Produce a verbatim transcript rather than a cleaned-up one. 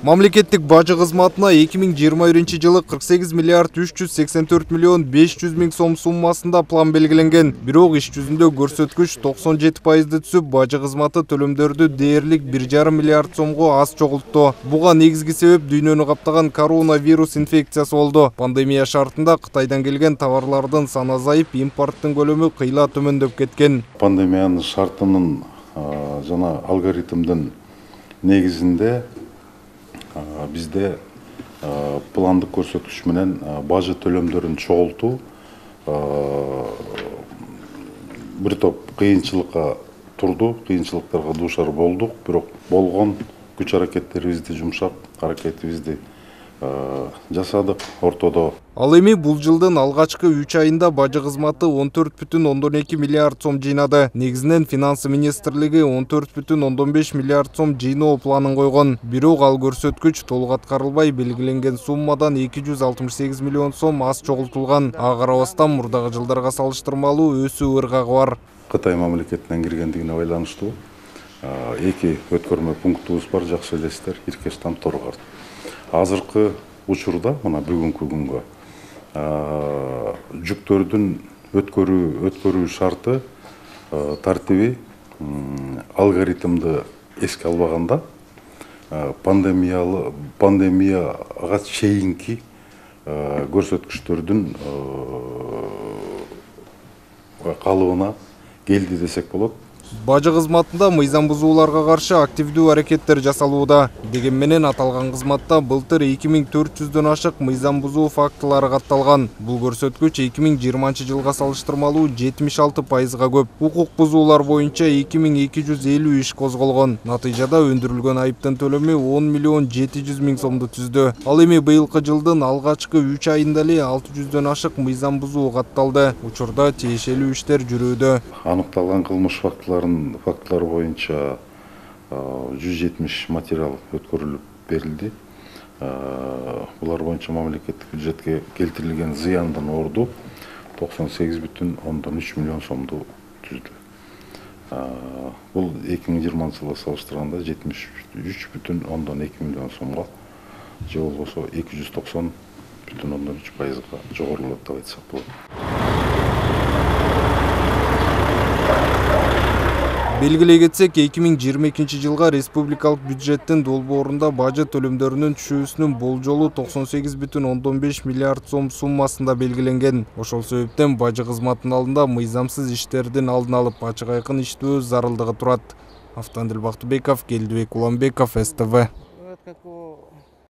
Мамлекеттик бажы кызматына эки миң жыйырма биринчи жылы кырк сегиз миллиард үч жүз сексен төрт миллион беш жүз миң сом суммасында план белгиленген. Бирок иш жүзүндө көрсөткүч токсон жети пайызды түсүп, бажы кызматы төлөмдөрдү дээрлик бир жарым миллиард сомго аз чогултту. Буга негизги себеп дүйнөнү каптаган коронавирус инфекциясы болду. Пандемия шартында Кытайдан келген товарлардын саны азайып, импорттун көлөмү кыйла төмөндөп кеткен. Пандемиянын шартынын жана алгоритмдин негизинде бизде пландык көрсөткүч менен бажы төлөмдөрүн чогултуу бир топ кыйынчылыкка турду, кыйынчылыктарга дуушар болдук, бирок болгон күч аракеттерибизди жумшап, аракетибизди жасадык ортодо. Ал эми бул жылдын алгачкы үч айында бажы кызматы он төрт бүтүн ондон эки миллиард сом жыйнады. Негизинен финансы министрлиги он төрт бүтүн ондон беш миллиард сом жыйноо планын койгон. Бирок ал көрсөткүч толук аткарылбай, белгиленген суммадан эки жүз алтымыш сегиз миллион сом аз чогултулган. Ага карабастан мурдагы жылдарга салыштырмалуу өсүү ыргагы бар. Кытай мамлекетинен киргендигине байланыштуу эки өткөрмө пунктубуз бар, жакшы элесиздер, Иркештан, Торгарт. Азыркы учурда, мына бүгүнкү күнгө жүктөрдүн өткөрүү өткөрүү шарты тартиби алгоритмды эске албаганда пандемиялы пандемияга чейинки көрсөткүчтөрдүн калыбына келди десек болот. Бажы кызматында мыйзам бузууларга каршы активдүү аракеттер жасалууда. Деген менен аталган кызматта былтыр эки миң төрт жүздөн ашык мыйзам бузуу фактылары катталган. Бул көрсөткүч эки миң жыйырманчы жылга салыштырмалуу жетимиш алты пайызга көп. Укук бузуулар боюнча эки миң эки жүз элүү иш козголгон. Натыйжада өндүрүлгөн айыптын төлөмү он миллион жети жүз миң сомду түздү. Ал эми быйылкы жылдын алгачкы үч айында эле алты жүздөн ашык мыйзам бузуу катталды. Учурда тиешелүү иштер жүрүүдө. Аныкталган кылмыш фактылары фактылар боюнча жүз жетимиш материал өткөрүлүп берилди. Булар боюнча мамлекеттик бюджетке келтирилген зыяндын орду токсон сегиз бүтүн ондон үч миллион сомду түздү. Бул эки миң жыйырманчы жылга салыштырганда жетимиш үч бүтүн ондон эки миллион сомго, же болбосо эки жүз токсон бүтүн ондон үч пайызга жогорулап деп айтсак болот. Белгилей кетсек, эки миң жыйырма экинчи жылга республикалык бюджеттин долбоорунда бажы төлөмдөрүнүн түшүүсүнүн болжолу токсон сегиз бүтүн ондон беш миллиард сом суммасында белгиленген. Ошол себептен бажы кызматынын алдында мыйзамсыз иштердин алдын алып, ачык айкын иштөө зарылдыгы турат. Автандил Бактыбеков, Келдибек Уламбеков, эс тэ вэ.